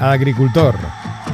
Agricultor.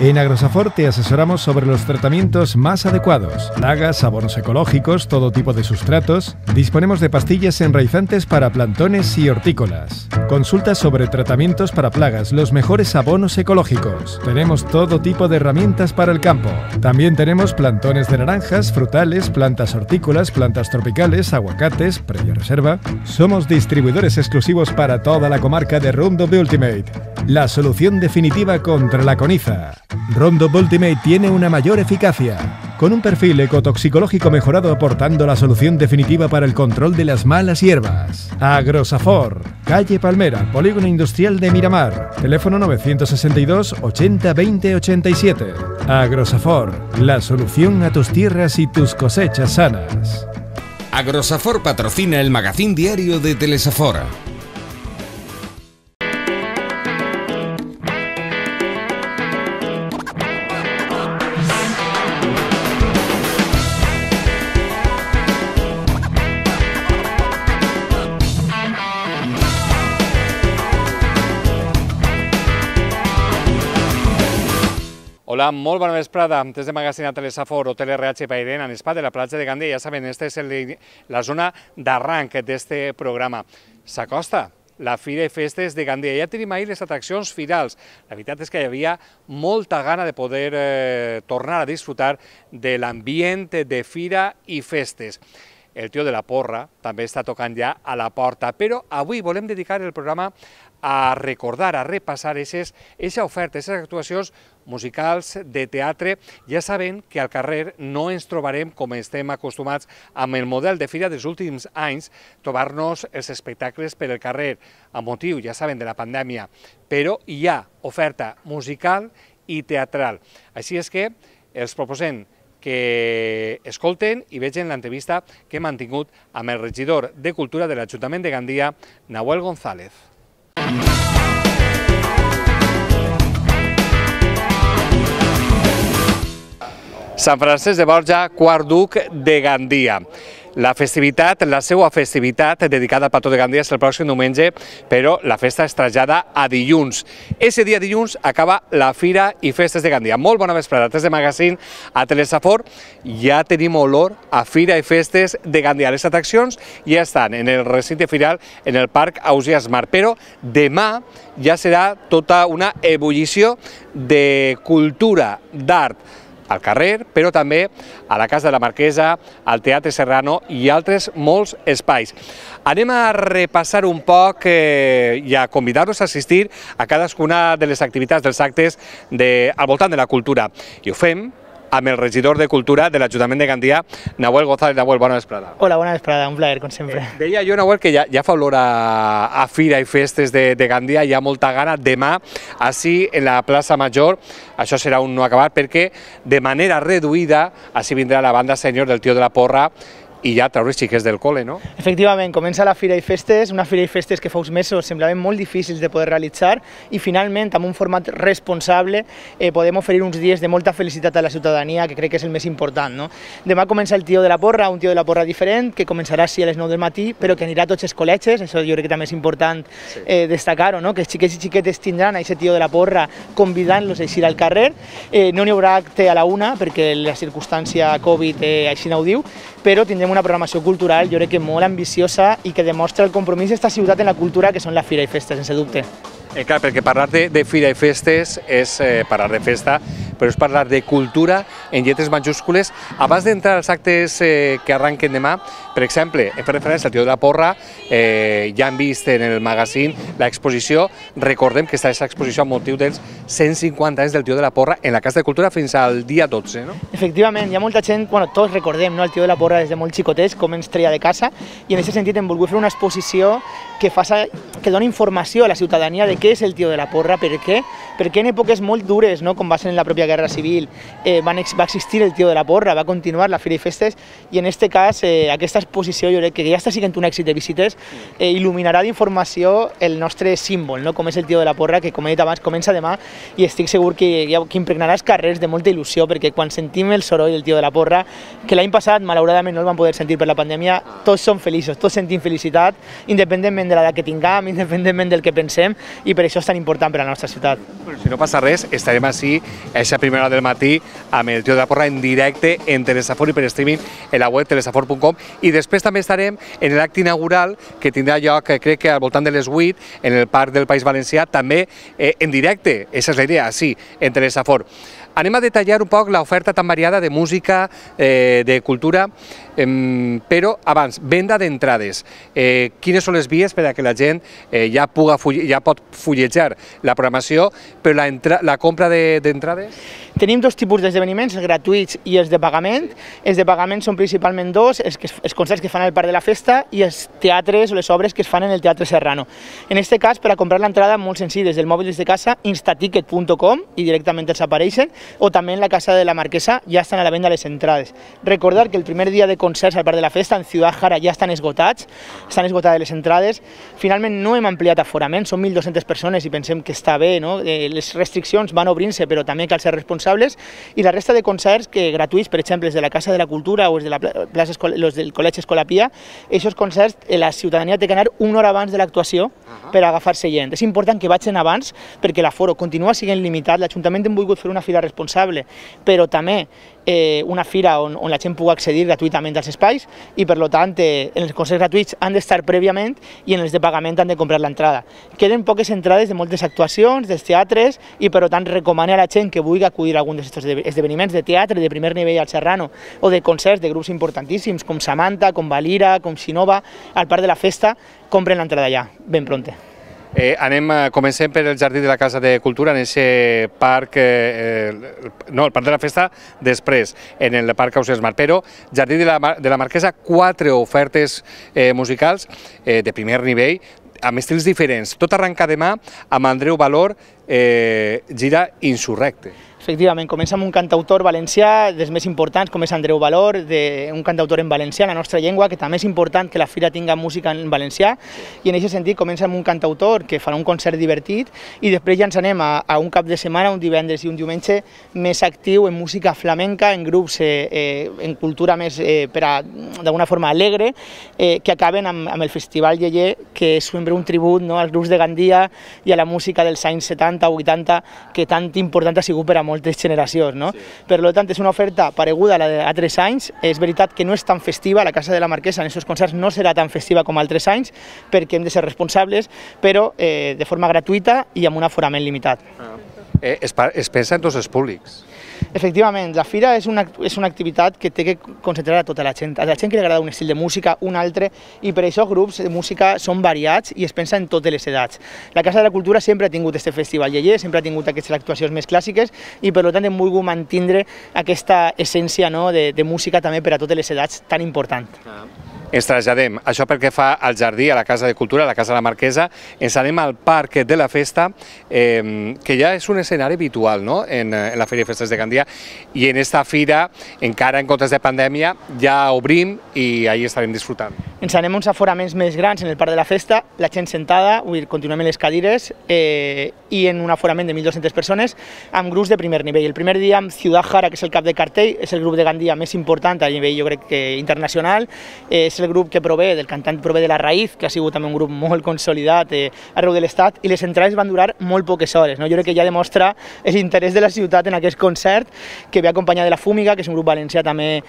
En Agrosafor te asesoramos sobre los tratamientos más adecuados, plagas, abonos ecológicos, todo tipo de sustratos. Disponemos de pastillas enraizantes para plantones y hortícolas. Consulta sobre tratamientos para plagas, los mejores abonos ecológicos. Tenemos todo tipo de herramientas para el campo. También tenemos plantones de naranjas, frutales, plantas hortícolas, plantas tropicales, aguacates, previa reserva. Somos distribuidores exclusivos para toda la comarca de Roundup Ultimate, la solución definitiva contra la coniza. Roundup Ultimate tiene una mayor eficacia, con un perfil ecotoxicológico mejorado aportando la solución definitiva para el control de las malas hierbas. Agrosafor, calle Palmera, Polígono Industrial de Miramar, teléfono 962 80 20 87. Agrosafor, la solución a tus tierras y tus cosechas sanas. Agrosafor patrocina el magazín diario de Telesafor. Hola, molt bona vesprada. Des de Magazine a Telesafor o TeleRH Pairen, en Espa de la platja de Gandia. Ja saben, esta és la zona d'arranc d'este programa. S'acosta la Fira i Festes de Gandia. Ja tenim ahir les atraccions firals. La veritat és que hi havia molta gana de poder tornar a disfrutar de l'ambient de Fira i Festes. El tio de la porra també està tocant ja a la porta, però avui volem dedicar el programa a recordar, a repassar aquesta oferta, aquestes actuacions musicals de teatre. Ja saben que al carrer no ens trobarem, com estem acostumats amb el model de fira dels últims anys, trobar-nos els espectacles per el carrer, amb motiu, ja saben, de la pandèmia, però hi ha oferta musical i teatral. Així és que els proposem que escolten i vegin l'entrevista que hem mantingut amb el regidor de Cultura de l'Ajuntament de Gandia, Nahuel González. Sant Francesc de Borja, quart duc de Gandia. La festivitat, la seva festivitat dedicada al patró de Gandia és el pròxim diumenge, però la festa es trasllada a dilluns. Ese dia dilluns acaba la Fira i Festes de Gandia. Molt bona vesprada, des de Magazine a Telesafor. Ja tenim olor a Fira i Festes de Gandia. Les atraccions ja estan en el recinte firal, en el Parc Ausiàs Mar, però demà ja serà tota una ebullició de cultura, d'art, al carrer, però també a la Casa de la Marquesa, al Teatre Serrano i altres molts espais. Anem a repassar un poc i a convidar-los a assistir a cadascuna de les activitats dels actes al voltant de la cultura. I ho fem amb el regidor de Cultura de l'Ajuntament de Gandia, Nahuel González. Nahuel, bona vesprada. Hola, bona vesprada, un plaer, com sempre. Deia jo, Nahuel, que ja fa olor a Fira i Festes de Gandia, hi ha molta gana. Demà, així, en la plaça Major, això serà un no acabat, perquè de manera reduïda, així vindrà la banda sènior del Tio de la Porra, i ja treure els xiquets del col·le, no? Efectivament, comença la Fira i Festes, una Fira i Festes que fa uns mesos semblaven molt difícils de poder realitzar i finalment, amb un format responsable, podem oferir uns dies de molta felicitat a la ciutadania, que crec que és el més important, no? Demà comença el Tio de la Porra, un Tio de la Porra diferent, que començarà així a les 9 del matí, però que anirà a tots els col·legis, això jo crec que també és important destacar-ho, no? Que els xiquets i xiquetes tindran aquest Tio de la Porra convidant-los a eixir al carrer. No n'hi haurà acte a la 1, perquè la circumstància Covid així no ho diu, però tindrem una programació cultural, jo crec que molt ambiciosa i que demostra el compromís d'esta ciutat en la cultura, que són la Fira i Festes, sense dubte. Clar, perquè parlar de Fira i Festes és parlar de festa, però és parlar de cultura en lletres majúscules. Abans d'entrar als actes que arranquen demà, per exemple, hem fet referència al Tio de la Porra, ja hem vist en el magazine l'exposició. Recordem que està aquesta exposició amb motiu dels 150 anys del Tio de la Porra en la Casa de Cultura fins al dia 12, no? Efectivament, hi ha molta gent, tots recordem el Tio de la Porra des de molt xicotets, com ens treia de casa, i en aquest sentit hem volgut fer una exposició que dona informació a la ciutadania de què és el Tio de la Porra, per què en èpoques molt dures, com va ser en la pròpia Guerra Civil, va existir el Tio de la Porra, va continuar la Fira i Festes, i en aquest cas aquesta exposició, jo crec que ja està sent un èxit de visites, il·luminarà d'informació el nostre símbol, com és el Tio de la Porra, que com he dit abans comença demà, i estic segur que impregnarà els carrers de molta il·lusió, perquè quan sentim el soroll del Tio de la Porra, que l'any passat malauradament no el vam poder sentir per la pandèmia, tots som feliços, tots sentim felicitat, independentment de l'edat que tinguem, independentment del que pensem, i per això és tan important per a la nostra ciutat. Si no passa res, estarem així a aquesta primera hora del matí amb el Tio de la Porra en directe en Telesafor i per streaming en la web telesafor.com, i després també estarem en l'acte inaugural que tindrà lloc, crec que al voltant de les 8 en el Parc del País Valencià, també en directe. Esa és la idea, sí, en Telesafor. Anem a detallar un poc l'oferta tan variada de música, de cultura, però abans, venda d'entrades. Quines són les vies per a que la gent ja pot fullejar la programació, però la compra d'entrades? Tenim dos tipus d'esdeveniments, els gratuïts i els de pagament. Els de pagament són principalment dos, els concerts que fan al Parc de la Festa i els teatres o les obres que es fan en el Teatre Serrano. En aquest cas, per a comprar l'entrada, molt senzill, des del mòbil des de casa, instaticket.com, i directament els apareixen, o també en la Casa de la Marquesa ja estan a la venda les entrades. Recordar que el primer dia de concerts al Parc de la Festa, en Ciudad Jara, ja estan esgotades les entrades. Finalment no hem ampliat aforament, són 1.200 persones i pensem que està bé, no? Les restriccions van obrint-se, però també cal ser responsables, i la resta de concerts gratuïts, per exemple, els de la Casa de la Cultura o els del Col·legi Escolapia, aquests concerts la ciutadania té que anar una hora abans de l'actuació per agafar-se gent. És important que vagin abans perquè l'aforo continua sent limitat. L'Ajuntament hem volgut fer una fira responsable, però també una fira on la gent pugui accedir gratuïtament als espais, i per tant en els concerts gratuïts han d'estar prèviament i en els de pagament han de comprar l'entrada. Queden poques entrades de moltes actuacions, dels teatres, i per tant recomano a la gent que vulgui acudir a algun d'aquests esdeveniments de teatre de primer nivell al Serrano o de concerts de grups importantíssims com Samantha, com Valira, com Xinova, al Parc de la Festa, compren l'entrada ja, ben pronte. Comencem per el Jardí de la Casa de Cultura, en aquest parc, no, el Parc de la Festa després, en el Parc Ausiàs Mar, però Jardí de la Marquesa, 4 ofertes musicals de primer nivell, amb estils diferents. Tot arrenca demà amb Andreu Valor, gira Insurrecte. Efectivament, comença amb un cantautor valencià dels més importants, com és Andreu Valor, un cantautor en valencià, la nostra llengua, que també és important que la fira tinga música en valencià, i en aquest sentit comença amb un cantautor que farà un concert divertit, i després ja ens anem a un cap de setmana, un divendres i un diumenge, més actiu en música flamenca, en grups, en cultura més, d'alguna forma alegre, que acaben amb el Festival Yeye, que és sempre un tribut als grups de Gandia i a la música dels anys 70 o 80, que tant important ha sigut per a moltes generacions, no? Per tant, és una oferta pareguda a la d'altres anys. És veritat que no és tan festiva, la Casa de la Marquesa en aquests concerts no serà tan festiva com altres anys, perquè hem de ser responsables, però de forma gratuïta i amb un aforament limitat. Es pensa en tots els públics. Efectivament, la fira és una activitat que té que concentrar a tota la gent. A la gent que li agrada un estil de música, un altre, i per això grups de música són variats i es pensa en totes les edats. La Casa de la Cultura sempre ha tingut aquest festival Yeye, sempre ha tingut aquestes actuacions més clàssiques, i per tant hem volgut mantenir aquesta essència de música també per a totes les edats tan important. Ens traslladem, això pel que fa al jardí, a la Casa de Cultura, a la Casa de la Marquesa, ens anem al Parc de la Festa, que ja és un escenari habitual en la Fira de Festes de Gandia, i en esta fira, encara en comptes de pandèmia, ja obrim i ahí estarem disfrutant. Ens anem uns aforaments més grans en el Parc de la Festa, la gent sentada, continuem en les cadires, i en un aforament de 1.200 persones, amb grups de primer nivell. El primer dia amb Ciudad Jara, que és el cap de cartell, és el grup de Gandia més important a nivell, jo crec que internacional, és el grup que prové, del cantant prové de La Raïz, que ha sigut també un grup molt consolidat arreu de l'Estat, i les entrades van durar molt poques hores. Jo crec que ja demostra l'interès de la ciutat en aquest concert, que ve acompanyat de La Fúmiga, que és un grup valencià també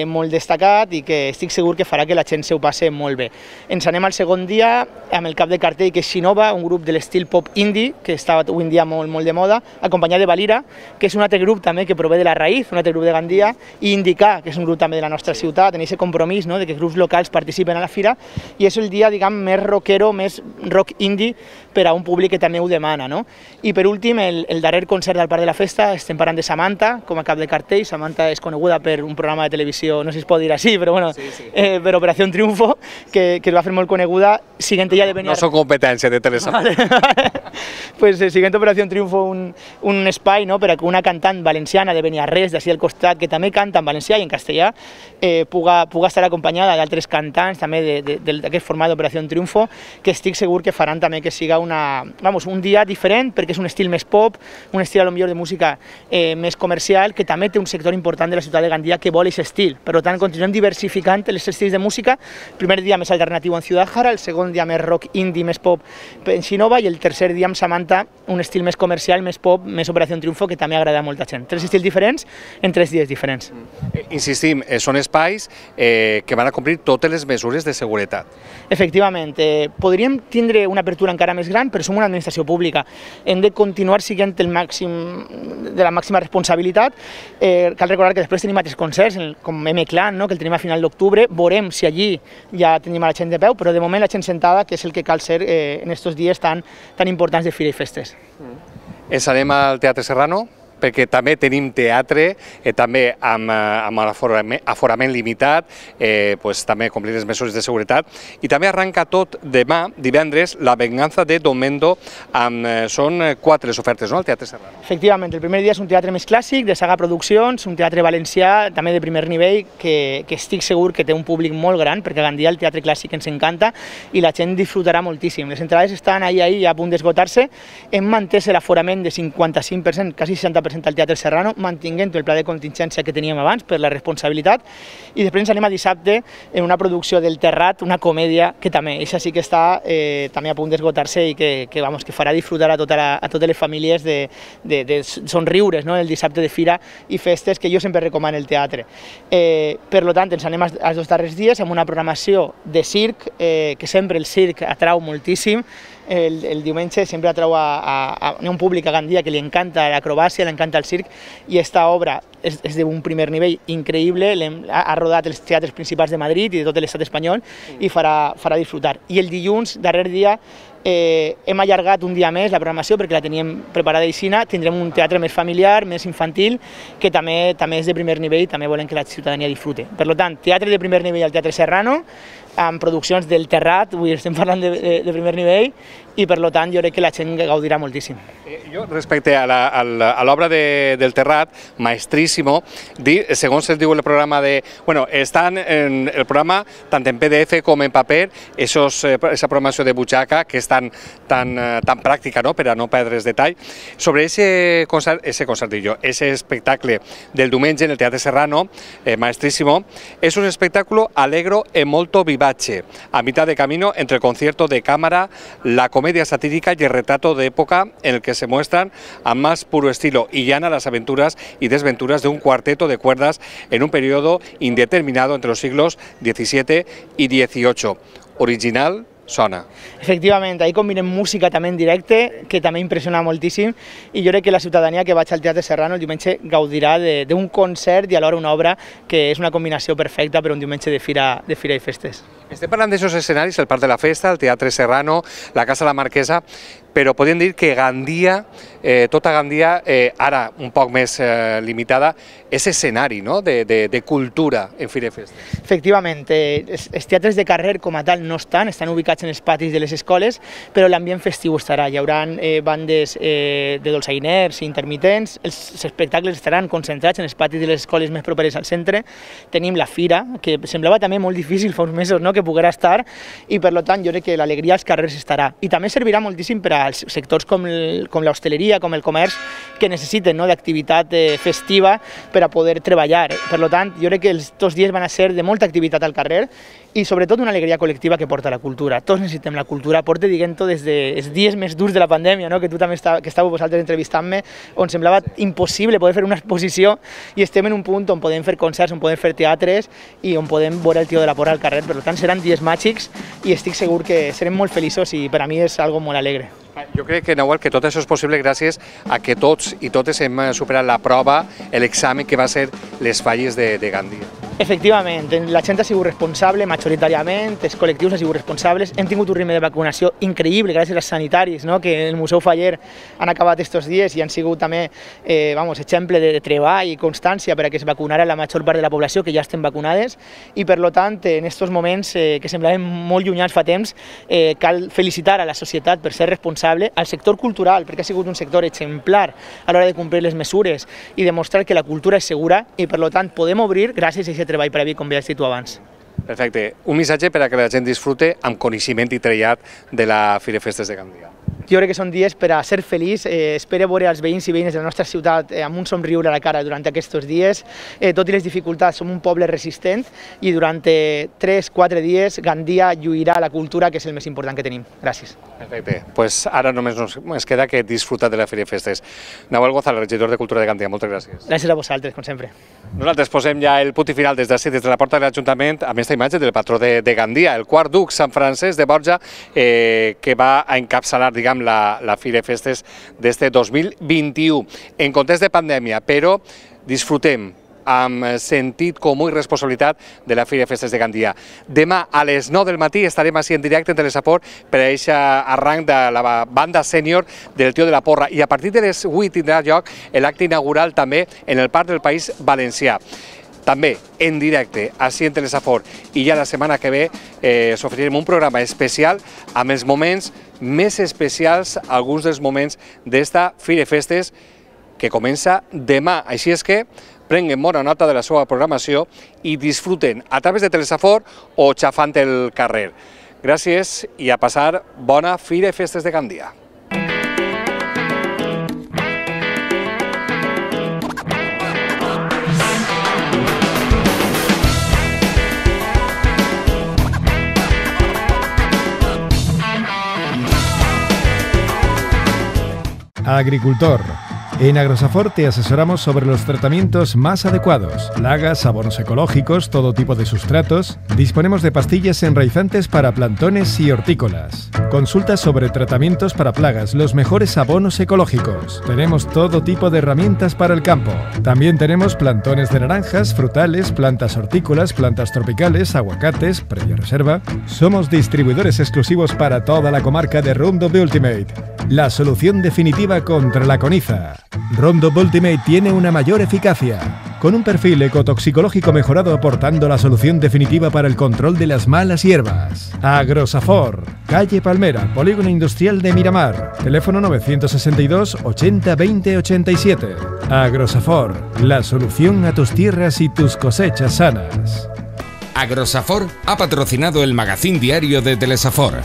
molt destacat i que estic segur que farà que la gent s'ho passi molt bé. Ens anem al segon dia amb el cap de cartell, que és Xinova, un grup de l'estil pop indie, que està avui en dia molt de moda, acompanyat de Valira, que és un altre grup també que prové de La Raïz, un altre grup de Gandia, i Indica, que és un grup també de la nostra ciutat, en aquest compromís de que grups locals participen a la fira, i és el dia, més rockero, més rock indie per a un públic que també ho demana. I per últim, el darrer concert del Parc de la Festa, estem parlant de Samantha, com a cap de cartell. Samantha és coneguda per un programa de televisió, no sé si es pot dir així, però bueno, per Operació Triunfo, que es va fer molt coneguda, siguent ella de venir... No són competència de Telesafor. Pues siguent Operació Triunfo, un espai per a que una cantant valenciana de Beniarrés, d'ací al costat, que també canta en valencià i en castellà, puga estar acompanyada d'altres cantants també d'aquest format d'Operació Triunfo, que estic segur que faran també que siga un dia diferent, perquè és un estil més pop, un estil potser de música més comercial, que també té un sector important de la ciutat de Gandia que vol aquest estil. Per tant, continuem diversificant els estils de música. El primer dia més alternatiu en Ciudad Jara, el segon dia més rock indie, més pop en Xinova, i el tercer dia amb Samantha, un estil més comercial, més pop, més Operació Triunfo, que també agrada a molta gent. 3 estils diferents en 3 dies diferents. Insistim, són espais que van a complir totes les mesures de seguretat. Efectivament, podríem tindre una apertura encara més gran, però som una administració pública. Hem de continuar siguent de la màxima responsabilitat. Cal recordar que després tenim altres concerts, com M-Clan, que el tenim a final d'octubre. Veurem si allí ja tenim a la gent de peu, però de moment la gent sentada, que és el que cal ser en aquests dies tan importants de Fira i Festes. Ens anem al Teatre Serrano, perquè també tenim teatre, també amb aforament limitat, també complir les mesures de seguretat, i també arranca tot demà, divendres, La venganza de Don Mendo, són 4 les ofertes, no?, al Teatre Serrano. Efectivament, el primer dia és un teatre més clàssic, de Saga Produccions, un teatre valencià, també de primer nivell, que estic segur que té un públic molt gran, perquè a Gandia el teatre clàssic ens encanta i la gent disfrutarà moltíssim. Les entrades estan ahí a punt d'esgotar-se. Hem mantès l'aforament de 55%, quasi 60% al Teatre Serrano, mantinguent el pla de contingència que teníem abans per la responsabilitat, i després ens anem a dissabte en una producció del Terrat, una comèdia que també, això sí que està també a punt d'esgotar-se i que farà disfrutar a totes les famílies de somriures el dissabte de Fira i Festes, que jo sempre recomano el teatre. Per tant, ens anem als 2 darrers dies amb una programació de circ, que sempre el circ atrau moltíssim. El diumenge sempre atrau a un públic a Gandia que li encanta l'acrobàcia, li encanta el circ, i aquesta obra és d'un primer nivell increïble, ha rodat els teatres principals de Madrid i de tot l'estat espanyol i farà disfrutar. I el dilluns, darrer dia, hem allargat un dia més la programació perquè la teníem preparada a Ixina. Tindrem un teatre més familiar, més infantil, que també és de primer nivell i també volem que la ciutadania disfrute. Per tant, teatre de primer nivell al Teatre Serrano, amb produccions del Terrat, avui estem parlant de primer nivell, i per tant jo crec que la gent gaudirà moltíssim. Jo, respecte a l'obra del Terrat, Maestrísimo, segons es diu el programa estan en el programa tant en PDF com en paper, esa programació de butxaca que és tan pràctica per a no perdre's detall. Sobre ese espectacle del diumenge en el Teatre Serrano, Maestrísimo, es un espectáculo alegro e molto vivace, a mitad de camino entre el concierto de cámara, la comedia satírica y el retrato de época, en el que se muestran a más puro estilo y llana las aventuras y desventuras de un cuarteto de cuerdas en un periodo indeterminado entre los siglos XVII y XVIII. Original, sona. Efectivament, ahir combinem música també en directe, que també impressiona moltíssim, i jo crec que la ciutadania que vaig al Teatre Serrano el diumenge gaudirà d'un concert i alhora una obra que és una combinació perfecta per un diumenge de fira i festes. Estem parlant d'aixòs escenaris, el Parc de la Festa, el Teatre Serrano, la Casa de la Marquesa, però podem dir que Gandia, tota Gandia, ara un poc més limitada, és escenari de cultura en Fira i Festes. Efectivament, els teatres de carrer com a tal no estan ubicats en els patis de les escoles, però l'ambient festiu estarà. Hi haurà bandes de dolçainers i intermitents, els espectacles estaran concentrats en els patis de les escoles més properes al centre. Tenim la fira, que semblava també molt difícil fa uns mesos que poguera estar, i per tant jo crec que l'alegria als carrers estarà. I també servirà moltíssim per als sectors com l'hostaleria, com el comerç, que necessiten d'activitat festiva per a poder treballar. Per tant, jo crec que els 2 dies van a ser de molta activitat al carrer i sobretot una alegria col·lectiva que porta la cultura. Tots necessitem la cultura, porta, diguem-ho, des dels dies més durs de la pandèmia, que tu també estàveu vosaltres entrevistant-me, on semblava impossible poder fer una exposició, i estem en un punt on podem fer concerts, on podem fer teatres i on podem veure el Tio de la Porra al carrer. Per tant, seran dies màgics i estic segur que serem molt feliços i per a mi és algo molt alegre. Jo crec que, Nahuel, que tot això és possible gràcies a que tots i totes hem superat la prova, l'examen que va ser les falles de Gandia. Efectivament, la gent ha sigut responsable majoritàriament, els col·lectius han sigut responsables, hem tingut un ritme de vacunació increïble gràcies als sanitaris que en el Museu Faller han acabat aquests dies i han sigut també exemple de treball i constància per a que es vacunara la major part de la població, que ja estem vacunades, i per tant en aquests moments que semblaven molt llunyans fa temps cal felicitar a la societat per ser responsable, al sector cultural perquè ha sigut un sector exemplar a l'hora de complir les mesures i demostrar que la cultura és segura i per tant podem obrir gràcies a aquest treball previ, com ja has dit tu abans. Perfecte. Un missatge per a que la gent disfrute amb coneixement i trellat de la Fira Festes de Gandia. Jo crec que són dies per a ser feliç, espero veure els veïns i veïnes de la nostra ciutat amb un somriure a la cara durant aquests dies. Tot i les dificultats, som un poble resistent i durant 3-4 dies Gandia lluirà la cultura, que és el més important que tenim. Gràcies. Perfecte. Pues ara només ens queda que disfrutar de la Fira Festes. Nahuel González, regidor de Cultura de Gandia, moltes gràcies. Gràcies a vosaltres, com sempre. Nosaltres posem ja el punt i final des d'ací, des de la porta de l'Ajuntament, amb aquesta imatge del patró de Gandia, el quart duc Sant Francesc de Borja, que va a encapçalar, diguem, la Fira Festes d'este 2021, en context de pandèmia, però disfrutem amb sentit comú i responsabilitat de la Fira Festes de Gandia. Demà a les 9 del matí estarem així en directe en Telesaport per a aquest arranc de la banda sènior del Tio de la Porra, i a partir de les 8 tindrà lloc l'acte inaugural també en el Parc del País Valencià. També en directe, així en Telesaport, i ja la setmana que ve us oferirem un programa especial amb els moments més especials, alguns dels moments d'esta Fira Festes que comença demà. Així és que prenguen bona nota de la seva programació i disfruten a través de Telesaport o xafant el carrer. Gràcies i a passar bona Fira Festes de Gandia. Agricultor. En Agrosafort te asesoramos sobre los tratamientos más adecuados, plagas, abonos ecológicos, todo tipo de sustratos. Disponemos de pastillas enraizantes para plantones y hortícolas. Consultas sobre tratamientos para plagas, los mejores abonos ecológicos. Tenemos todo tipo de herramientas para el campo. También tenemos plantones de naranjas, frutales, plantas hortícolas, plantas tropicales, aguacates, previa reserva. Somos distribuidores exclusivos para toda la comarca de Roundup Ultimate, la solución definitiva contra la coniza. Roundup Ultimate tiene una mayor eficacia, con un perfil ecotoxicológico mejorado, aportando la solución definitiva para el control de las malas hierbas. Agrosafort, calle Palmera, Polígono Industrial de Miramar, teléfono 962 80 20 87. Agrosafort, la solución a tus tierras y tus cosechas sanas. Agrosafort ha patrocinado el magazín diario de Telesafort.